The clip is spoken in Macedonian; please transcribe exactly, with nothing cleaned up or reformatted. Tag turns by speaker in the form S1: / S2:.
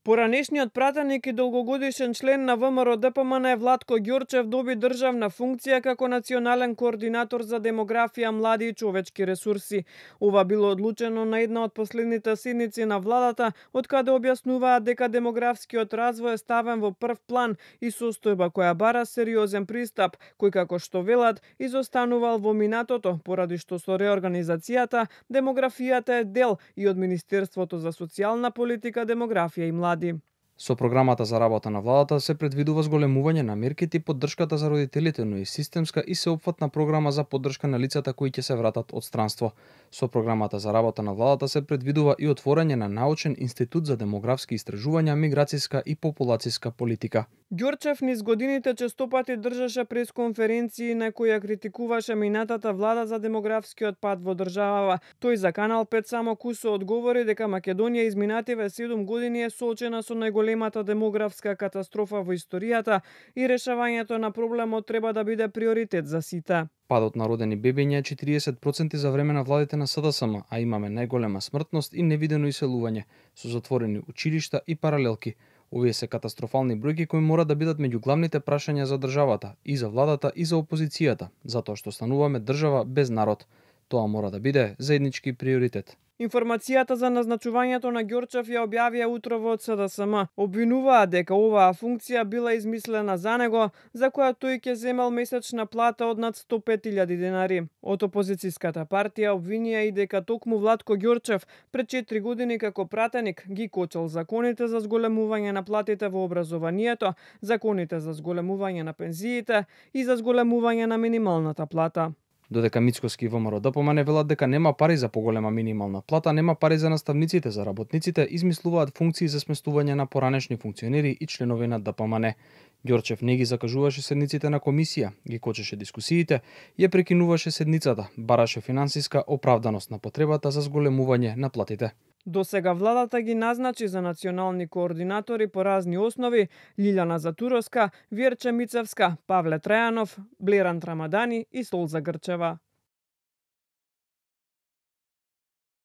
S1: Поранешниот пратеник и долгогодишен член на ВМРО-ДПМН Владко Ѓорчев доби државна функција како национален координатор за демографија, млади и човечки ресурси. Ова било одлучено на една од последните седници на владата, од каде објаснуваат дека демографскиот развој е ставен во прв план и состојба која бара сериозен пристап, кој како што велат изостанувал во минатото, поради што со реорганизацијата демографијата е дел и од Министерството за социјална политика, демографија и млади.
S2: Со програмата за работа на владата се предвидува зголемување на мерките и поддршката за родителите, но и системска и сеопфатна програма за поддршка на лицата кои ќе се вратат од странство. Со програмата за работа на владата се предвидува и отворање на научен институт за демографски истражувања, миграцијска и популацијска политика.
S1: Ѓорчев низ годините честопати држаше пресконференции на кои ја критикуваше минатата влада за демографскиот пат во државава. Тој за Канал пет само кусо одговори дека Македонија изминативе седум години е соочена со најголемата демографска катастрофа во историјата и решавањето на проблемот треба да биде приоритет за сите.
S2: Падот на родени бебиња е четириесет проценти за време на владите на СДСМ, а имаме најголема смртност и невидено иселување, со затворени училишта и паралелки. Овие се катастрофални бројки кои мора да бидат меѓу главните прашања за државата, и за владата, и за опозицијата, затоа што стануваме држава без народ. Тоа мора да биде заеднички приоритет.
S1: Информацијата за назначувањето на Ѓорчев ја објавија утрово од СДСМ. Обвинуваат дека оваа функција била измислена за него, за која тој ќе земел месечна плата од над сто пет илјади денари. Од опозицијската партија обвинија и дека токму Владко Ѓорчев пред четири години како пратеник ги кочел законите за зголемување на платите во образованието, законите за зголемување на пензиите и за зголемување на минималната плата.
S2: Додека Мицкоски и ВМРО-ДПМН велат дека нема пари за поголема минимална плата, нема пари за наставниците, за работниците, измислуваат функции за сместување на поранешни функционери и членови на ДПМН. Ѓорчев не ги закажуваше седниците на комисија, ги кочеше дискусиите, ја прекинуваше седницата, бараше финансиска оправданост на потребата за зголемување на платите.
S1: До сега владата ги назначи за национални координатори по разни основи Лилјана Затуровска, Вјерче Мицевска, Павле Трајанов, Блеран Рамадани и Солза Грчева.